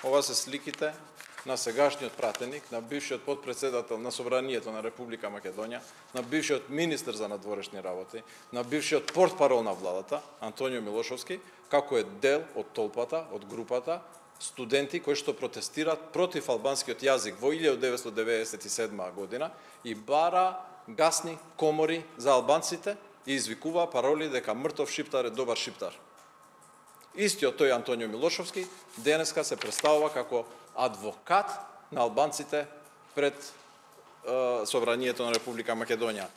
ова се сликите на сегашниот пратеник, на бившиот потпредседател на Собранието на Република Македонија, на бившиот министер за надворешни работи, на бившиот портпарол на владата, Антонио Милошовски, како е дел од толпата, од групата студенти кои што протестираат против албанскиот јазик во 1997 година и бара гасни комори за албанците и извикува пароли дека мртов шиптар е добар шиптар. Истиот тој Антонио Милошовски денеска се представува како адвокат на албанците пред Собранието на Република Македонија.